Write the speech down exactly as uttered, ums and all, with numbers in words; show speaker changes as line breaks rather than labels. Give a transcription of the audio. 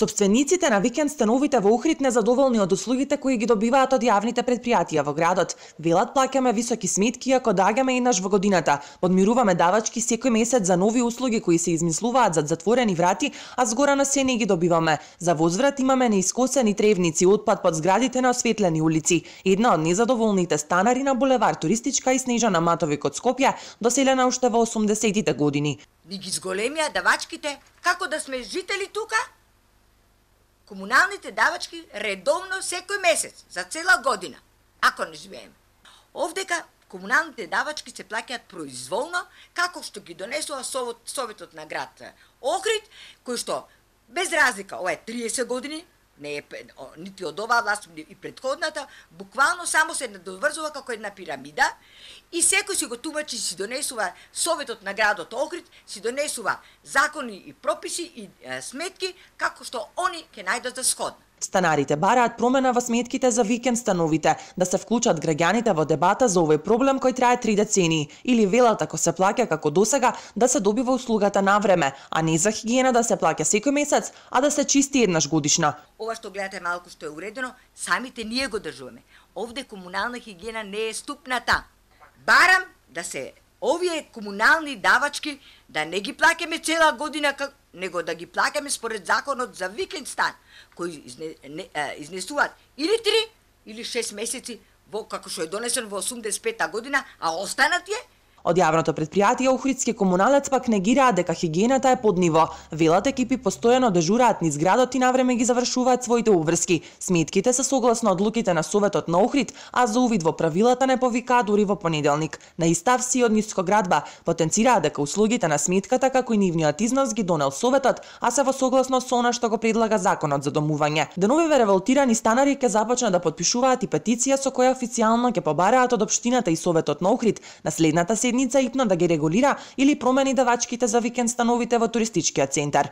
Собствениците на викенд становите во Охрид незадоволни од услугите кои ги добиваат од јавните претпријатија во градот. Велат, плаќаме високи сметки ако доаѓаме еднаш во годината. Подмируваме давачки секој месец за нови услуги кои се измислуваат зад затворени врати, а згора на се не ги добиваме. За возврат имаме неискосени тревници, отпад под зградите на осветлени улици. Една од незадоволните станари на булевар Туристичка и Снежана Матовик од Скопје, доселена уште во осумдесетите години.
Ни ги зголемија давачките, како да сме жители тука? Комуналните давачки редовно секој месец, за цела година, ако не живееме. Овдека комуналните давачки се плаќаат произволно, како што ги донесува Советот на град Охрид, кој што без разлика, ова е триесет години, не е нити од оваа власт и предходната, буквално само се надоврзува како една пирамида и секој си го тумачи, си донесува Советот на градот Охрид, си донесува закони и прописи и е, сметки како што они ќе најдат за сходно.
Станарите бараат промена во сметките за викенд становите, да се вклучат граѓаните во дебата за овој проблем кој трае три децении, или велат ако се плаќа како досега да се добива услугата на време, а не за хигиена да се плаќа секој месец, а да се чисти еднаш годишно.
Ова што гледате малку што е уредено, самите ние го држуваме. Овде комунална хигиена не е ступната. Барам да се овие комунални давачки да не ги плаќаме цела година, него да ги плаќаме според законот за викенд стан, кои изне, не, а, изнесуваат или три или шест месеци, во, како што е донесен во осумдесет и пета година, а останат е.
Од јавното претпријатие Охридски комуналец пак негираат дека хигиената е под ниво. Велат, екипи постојано дежураат низ градот и навреме ги завршуваат своите обврски. Сметките се согласно одлуките на Советот на Охрид, а за увид во правилата не повикаат дури во понеделник. На Иставси од Нискоградба потенцираат дека услугите на сметката како и нивниот износ ги донел Советот, а се во согласно со она што го предлага Законот за домување. Деновиве револтирани станари ќе започнат да потпишуваат и петиција со која официјално ќе побараат од општината и Советот на Охрид на следната седница ипно да ги регулира или промени давачките за викенд становите во туристичкиот центар.